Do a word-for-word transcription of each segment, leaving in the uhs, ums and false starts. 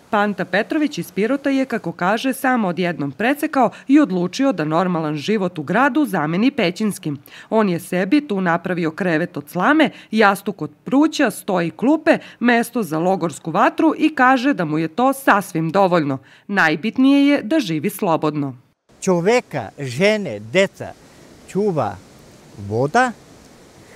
Panta Petrović iz Pirota je, kako kaže, samo odjednom precekao i odlučio da normalan život u gradu zameni pećinskim. On je sebi tu napravio krevet od slame, jastuk od pruća, sto i klupe, mesto za logorsku vatru i kaže da mu je to sasvim dovoljno. Najbitnije je da živi slobodno. Čoveka, žene, deca čuva voda,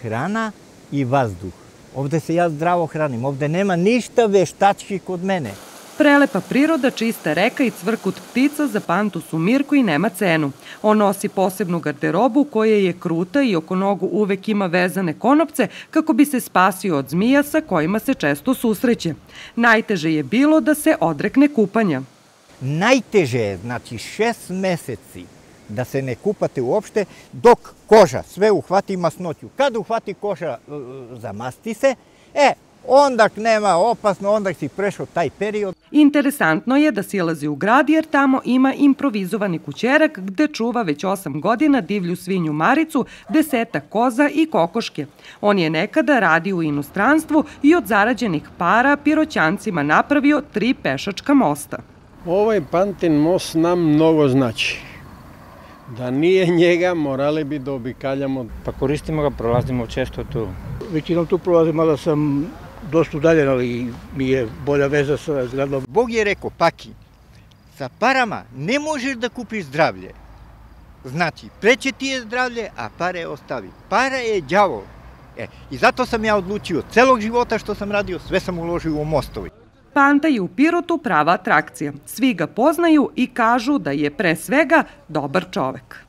hrana i vazduh. Ovde se ja zdravo hranim, ovde nema ništa veštački kod mene. Prelepa priroda, čista reka i cvrkut ptica za Pantu su mir koji nema cenu. On nosi posebnu garderobu koja je kruta i oko nogu uvek ima vezane konopce kako bi se spasio od zmija sa kojima se često susreće. Najteže je bilo da se odrekne kupanja. Najteže je, znači šest meseci da se ne kupate uopšte dok koža sve uhvati masnoću. Kad uhvati koža, zamasti se, e, onda nema opasno, onda si prešao taj period. Interesantno je da silazi u grad jer tamo ima improvizovani kućerak gde čuva već osam godina divlju svinju Maricu, desetak koza i kokoške. On je nekada radio u inostranstvu i od zarađenih para Piroćancima napravio tri pešačka mosta. Ovaj Pantin most nam mnogo znači. Da nije njega, morali bi da obikaljamo. Pa koristimo ga, prolazimo često tu. Većinom tu prolazim, mada sam dosta udaljen, ali mi je bolja veza sa zgradom. Bog je rekao, Paki, sa parama ne možeš da kupiš zdravlje. Znači, preće ti je zdravlje, a pare ostavi. Para je đavo. E, I zato sam ja odlučio, celog života što sam radio, sve sam uložio u mostovi. Panta je u Pirotu prava atrakcija. Svi ga poznaju i kažu da je pre svega dobar čovek.